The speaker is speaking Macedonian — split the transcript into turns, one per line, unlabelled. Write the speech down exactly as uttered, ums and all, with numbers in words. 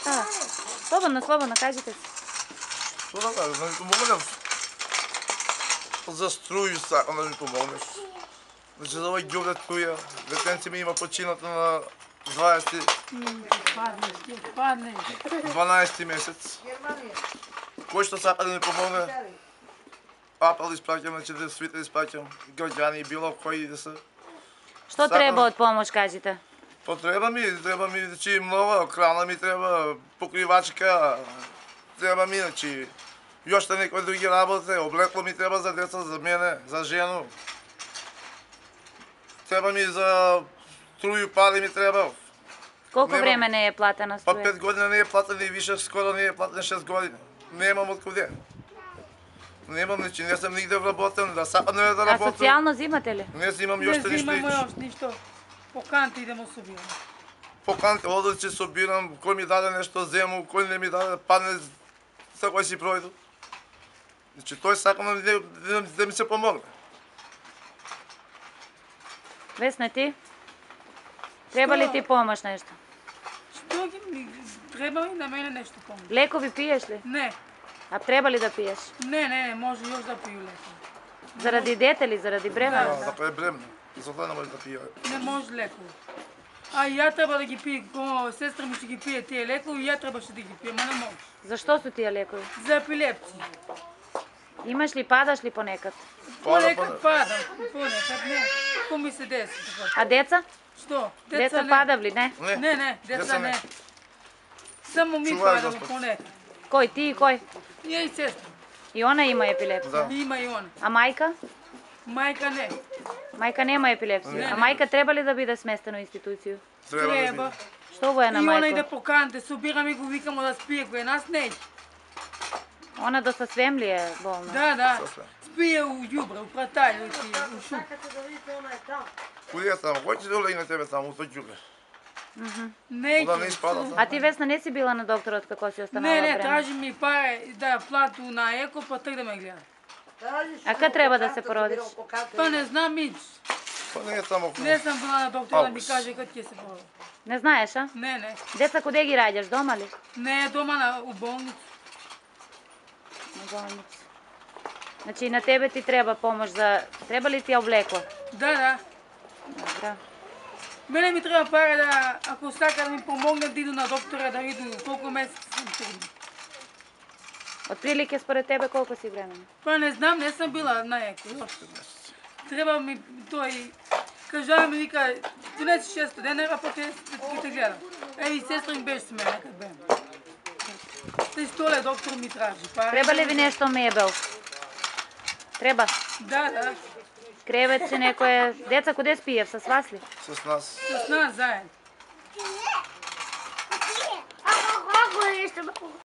А, слободно, слободно, кажете се.
Што да кажа, да ми помогнеш? За струju сакам да ми помогнеш. Значи за овој ѓобре струја, детенци ми има почината на дваесети дванаесети месец. Кој што сака да ми помогне, апел испраќам, значи да свите испраќам, граѓани, било кои да се.
Што треба од помош, кажете?
Потреба ми, треба ми, значи, многу, крана ми треба, покривачка, треба ми, значи, још те некои други работи, облекло ми треба за деца, за мене, за жену. Треба ми за струju, пари ми треба.
Колку време не е платена
Па
струја?
пет години не е платен и више, скоро не е платен шест години. Немам од куде. Немам, значи, не сам нигде вработен, да сакам да
А
работам.
социјално зимате ли?
Не си имам јоште
Не
ништо
имамо
иш.
још ништо. По канти идемо собираме.
По канти одам, че собирам, кој ми даде нешто зему, кој не ми даде, падне, секој си пројду. Значи, тој сакам да, да, да ми се помогне.
Весна, ти? Треба ли ти помош нешто?
Што ги ми треба и на мене нешто помогне?
Лекови пиеш ли?
Не,
А треба ли да пиеш?
не, не, не, може још да пију леко.
Заради дете ли, заради бремена?
Да, да, е бремна. За тоа не може да пие.
Не може леко. А и ја треба да ги пие, ко сестра ми ќе ги пие тие лекови, и ја требаше да ги пие, ма не може.
Зашто су тие лекови?
За епилепсија.
Имаш ли, падаш ли понекад?
Понекад падам, понекад не. Ко ми се деси така.
А деца?
Што?
Деца
не.
падав ли, не?
Не,
Не, не, деца
Деца не.
не. Само ми
Чувај,
падам
Господ.
понекад.
Кој, ти и кој?
Ја и сестра.
И она има епилепсија.
Да.
Има и она.
А мајка?
Мајка не.
Мајка нема епилепсија.
Не,
А
не.
мајка треба ли да биде сместена у институцију?
Треба да
Треба.
ми.
Што го е
И
на
она иде
мајко?
по канте, собирам и го викамо да спие, кој нас не иде.
Она доста свем ли е болна?
Да, да.
Сосве.
Спие у ѓубре, у пратај, у ти, у шуп.
Куди е таму? Кој ќе доле на тебе таму, тој ѓубре?
Не,
Куда не испада?
А ти, Весна, не си била на докторот како си останала
не, не,
време?
тражи ми пари да плату на еко, па трг да ме гледа.
А кад треба да се породиш?
Па не знам ич.
Па не е таму.
Не сам била на доктор да ми
Аус.
каже кад ќе се породи.
Не знаеш, а?
Не, не.
Деца куде ги раѓаш, дома ли?
Не е дома на, у болница.
На болница. Значи и на тебе ти треба помош за... Треба ли ти облекло?
Да, да.
Добро.
Мене ми треба пари да, ако сака да ми помогне да иду на доктора, да иду колку месеци сум трудна.
Отприлike според тебе колку си времена?
Па не знам, не сам била на еко. Треба ми тој... Кажа ми вика, донеси шесто денара, па ќе ќе те гледам. Еви, сестра ми беше с мене, кад бем. Тој столе доктор ми тражи. Пари.
Треба ли ви нешто мебел? Треба.
Да, да.
Креветче некое... Деца куде спиев? С вас ли?
С нас.
С нас заедно.